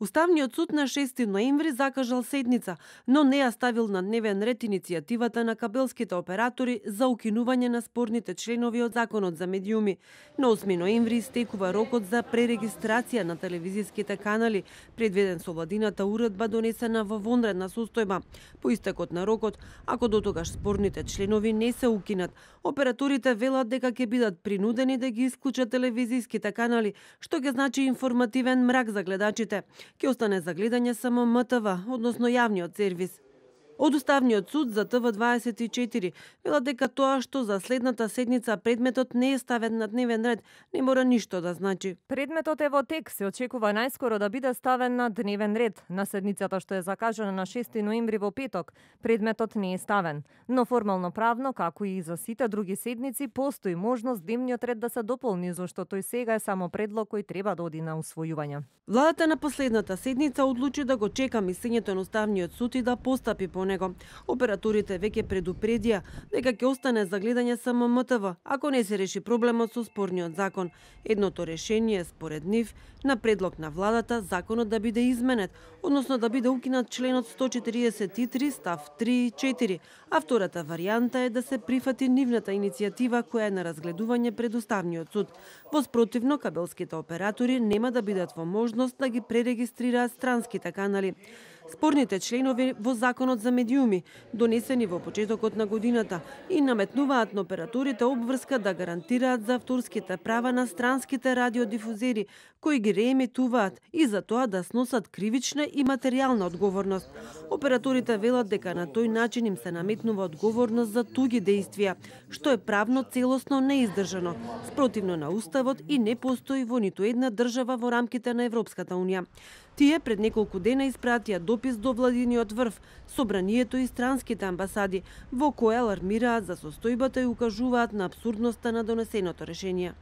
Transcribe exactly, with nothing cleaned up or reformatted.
Уставниот суд на шести ноември закажал седница, но не ја ставил на дневен ред иницијативата на кабелските оператори за укинување на спорните членови од Законот за медиуми. На осми ноември истекува рокот за пререгистрација на телевизиските канали, предвиден со владината уредба донесена во вонредна состојба. По истекот на рокот, ако дотогаш спорните членови не се укинат, операторите велат дека ќе бидат принудени да ги исклучат телевизиските канали, што ќе значи информативен мрак за гледачите. Ќе остане за гледање само М Т В, односно јавниот сервис. Од Уставниот суд за Т В дваесет и четири велат дека тоа што за следната седница предметот не е ставен на дневен ред не мора ништо да значи. Предметот е во тек, се очекува најскоро да биде ставен на дневен ред. На седницата што е закажана на шести ноември во петок, предметот не е ставен. Но формално правно, како и за сите други седници, постои можност дневниот ред да се дополни, зашто тој сега е само предлог кој треба да оди на усвојување. Владата на последната седница одлучи да го чека мислењето на Уставниот суд и да постапи по него. Операторите веќе предупредија дека ќе остане за гледање само М Т В, ако не се реши проблемот со спорниот закон. Едното решение, според нив, на предлог на владата, законот да биде изменет, односно да биде укинат членот сто четиридесет и три став три и четири, а втората варијанта е да се прифати нивната иницијатива која е на разгледување пред Уставниот суд. Во спротивно, кабелските оператори нема да бидат во можност да ги пререгистрираат странските канали. Спорните членови во Законот за медиуми, донесени во почетокот на годината, и наметнуваат на операторите обврска да гарантираат за авторските права на странските радиодифузери, кои ги реемитуваат и за тоа да сносат кривична и материјална одговорност. Операторите велат дека на тој начин им се наметнува одговорност за туги дејствија, што е правно целосно неиздржано, спротивно на Уставот и не постои во ниту една држава во рамките на Европската унија. Тие пред неколку дена испратија допис до владиниот врв, собранието и странските амбасади, во која алармираат за состојбата и укажуваат на апсурдноста на донесеното решение.